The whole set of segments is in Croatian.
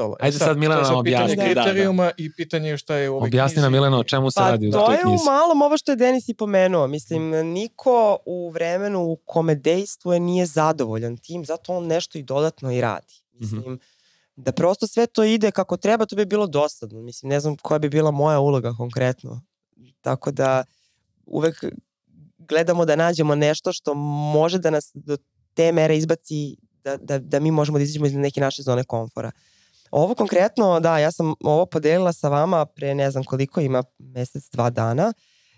ostalo. Ajde sad Milena objasni. Pitanje kriterijuma i pitanje šta je u ovoj knjizi. Objasni nam Milena o čemu se radi u toj knjizi. Pa to je u malom ovo što je Denis i pomenuo. Mislim, niko u vremenu u kome dejstvuje nije zadovoljan tim, zato on nešto i dodatno i radi. Mislim, da prosto sve to ide kako treba, to bi bilo dosadno. Mislim, ne znam koja bi bila moja uloga konkretno. Tako da uvek gledamo da nađemo nešto što može da nas do te mere izbaci da mi možemo da izađemo iz neke naše zone komfora. Ovo konkretno, da, ja sam ovo podelila sa vama pre ne znam koliko ima, mesec, 2 dana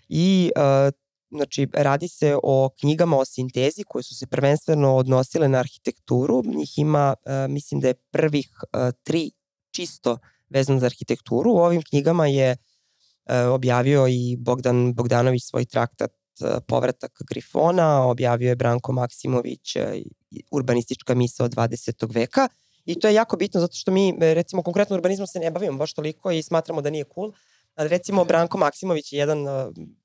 i znači radi se o knjigama o sintezi koje su se prvenstveno odnosile na arhitekturu. Njih ima, mislim da je prvih 3 čisto vezano za arhitekturu. U ovim knjigama je objavio i Bogdan Bogdanović svoj traktat Povratak Grifona, objavio je Branko Maksimović Urbanistička misao 20. veka i to je jako bitno zato što mi recimo konkretno urbanizmom se ne bavimo baš toliko i smatramo da nije cool, ali recimo Branko Maksimović je jedan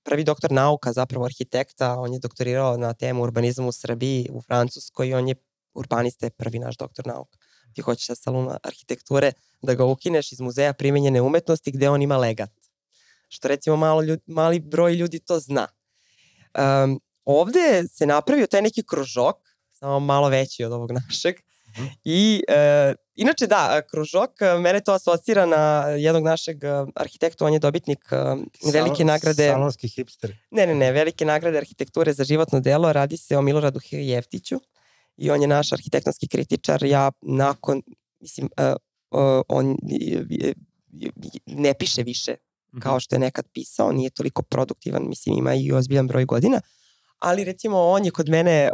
prvi doktor nauka, zapravo arhitekta, on je doktorirao na temu urbanizma u Srbiji, u Francuskoj i on je urbanista, je prvi naš doktor nauka. Ti hoćeš sa salona arhitekture da ga ukineš iz muzeja primenjene umetnosti gde on ima legat. Što recimo mali broj ljudi to zna. Ovde se napravio taj neki kružok, samo malo veći od ovog našeg. I inače da, kružok, mene to asocira na jednog našeg arhitekta, on je dobitnik velike nagrade. Salonski hipster. Ne, velike nagrade arhitekture za životno delo, radi se o Miloradu Jeftiću i on je naš arhitektonski kritičar. Ja nakon, mislim, on ne piše više kao što je nekad pisao, nije toliko produktivan, mislim ima i ozbiljan broj godina, ali recimo on je kod mene,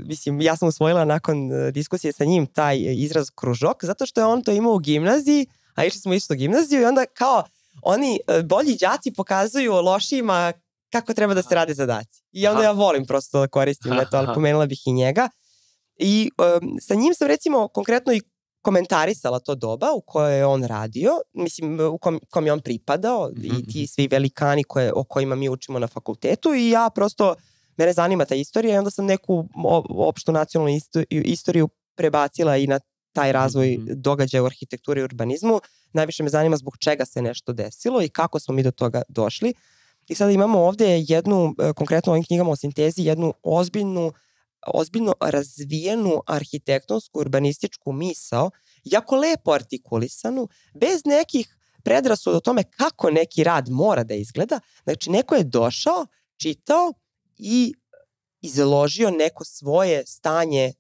mislim ja sam usvojila nakon diskusije sa njim taj izraz kružok, zato što je on to imao u gimnaziji, a išli smo isto u gimnaziju i onda kao oni bolji đaci pokazuju lošijima kako treba da se rade zadaci. I onda ja volim prosto da koristim to, ali pomenula bih i njega. I sa njim sam recimo konkretno i komentarisala to doba u kojoj je on radio, mislim u kom je on pripadao i ti svi velikani o kojima mi učimo na fakultetu i ja prosto, mene zanima ta istorija i onda sam neku opštu nacionalnu istoriju prebacila i na taj razvoj događaja u arhitekturi i urbanizmu. Najviše me zanima zbog čega se nešto desilo i kako smo mi do toga došli. I sada imamo ovde jednu, konkretno u ovim knjigama o sintezi, jednu ozbiljno razvijenu arhitektonsku urbanističku misao, jako lepo artikulisanu, bez nekih predrasuda o tome kako neki rad mora da izgleda. Znači, neko je došao, čitao i izložio neko svoje stanje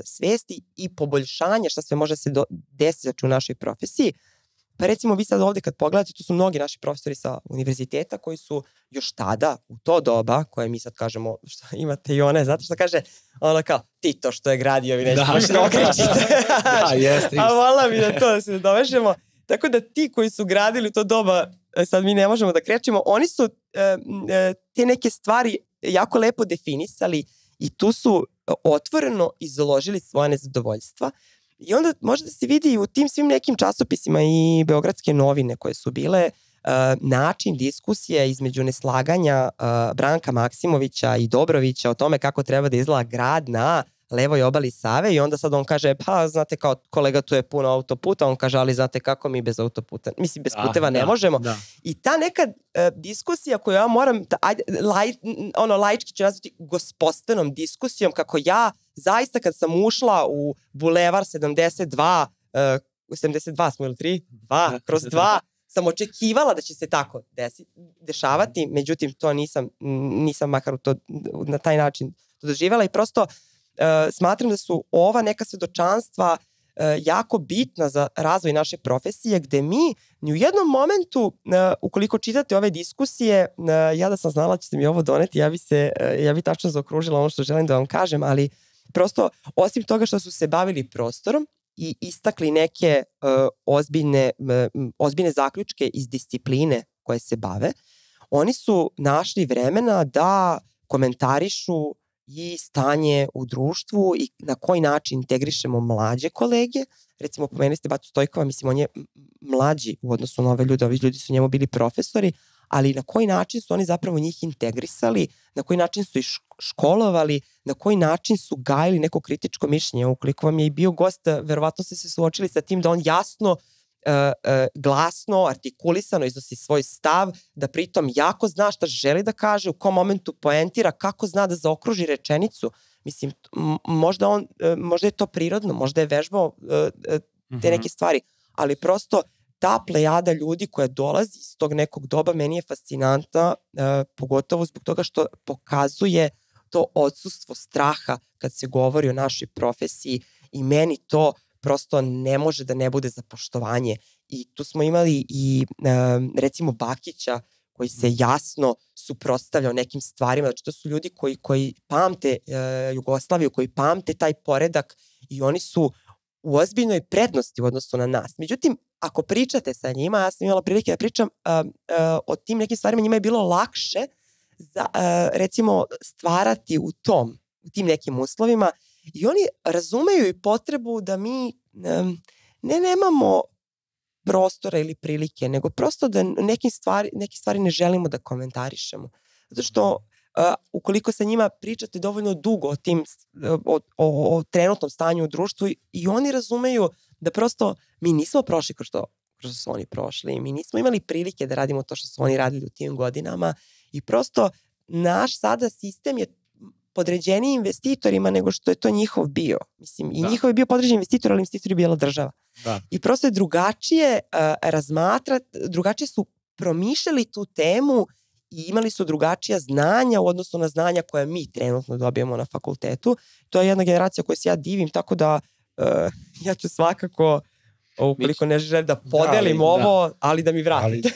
svesti i poboljšanje šta sve može se desiti u našoj profesiji. Pa recimo vi sad ovde kad pogledate, tu su mnogi naši profesori sa univerziteta koji su još tada, u to doba, koje mi sad kažemo, što imate i one, zato što kaže, ono kao, ti to što je gradio, vi neće baš da okrećite. Da, jeste. A vola mi da to da se dovežemo. Tako da ti koji su gradili to doba, sad mi ne možemo da krećemo, oni su te neke stvari jako lepo definisali i tu su otvoreno izložili svoje nezadovoljstva. I onda može da se vidi u tim svim nekim časopisima i Beogradske novine koje su bile način diskusije između neslaganja Branka Maksimovića i Dobrovića o tome kako treba da izgleda grad na levoj obali Save i onda sad on kaže, pa znate kao kolega tu je puno autoputa, on kaže ali znate kako mi bez autoputa, mislim bez puteva ne možemo. Da. I ta neka diskusija koju ja moram, laički ću nazvati gospostenom diskusijom, kako ja zaista kad sam ušla u Bulevar 72, 72 smo ili 3? 2, kroz 2, sam očekivala da će se tako dešavati, međutim to nisam makar na taj način to doživjela i prosto smatram da su ova neka svedočanstva jako bitna za razvoj naše profesije, gde mi ni u jednom momentu, ukoliko čitate ove diskusije, ja da sam znala da ćete mi ovo doneti, ja bi tačno zaokružila ono što želim da vam kažem, ali prosto, osim toga što su se bavili prostorom i istakli neke ozbiljne zaključke iz discipline koje se bave, oni su našli vremena da komentarišu i stanje u društvu i na koji način integrišemo mlađe kolege. Recimo, pomenuli ste Batu Stojkova, mislim, on je mlađi u odnosu na ove ljude, ovi ljudi su njemu bili profesori, ali na koji način su oni zapravo njih integrisali, na koji način su ih školovali, na koji način su gajili neko kritičko mišljenje. Ukoliko vam je i bio gost, verovatno ste se suočili sa tim da on jasno, glasno, artikulisano iznosi svoj stav, da pritom jako zna šta želi da kaže, u kom momentu poentira, kako zna da zaokruži rečenicu. Mislim, možda je to prirodno, možda je vežbao te neke stvari, ali prosto ta plejada ljudi koja dolazi iz tog nekog doba meni je fascinantna, pogotovo zbog toga što pokazuje to odsustvo straha kad se govori o našoj profesiji i meni to prosto ne može da ne bude za poštovanje. I tu smo imali i recimo Bakića koji se jasno suprotstavljao nekim stvarima. Znači to su ljudi koji pamte Jugoslaviju, koji pamte taj poredak i oni su u ozbiljnoj prednosti u odnosu na nas. Međutim, ako pričate sa njima, ja sam imala prilike da pričam o tim nekim stvarima, njima je bilo lakše recimo stvarati u tim nekim uslovima i oni razumeju i potrebu da mi nemamo prostora ili prilike, nego prosto da neke stvari ne želimo da komentarišemo. Zato što ukoliko sa njima pričate dovoljno dugo o trenutnom stanju u društvu i oni razumeju da prosto mi nismo prošli kroz što su oni prošli, mi nismo imali prilike da radimo to što su oni radili u tim godinama i prosto naš sada sistem je podređeniji investitorima nego što je to njihov bio. Mislim, i njihov je bio podređen investitor, ali investitor je bila država. Da. I prosto je drugačije drugačije su promišljali tu temu i imali su drugačija znanja u odnosu na znanja koja mi trenutno dobijamo na fakultetu. To je jedna generacija koju se ja divim, tako da ja ću svakako, ukoliko ne želim da podelim ali da mi vratite.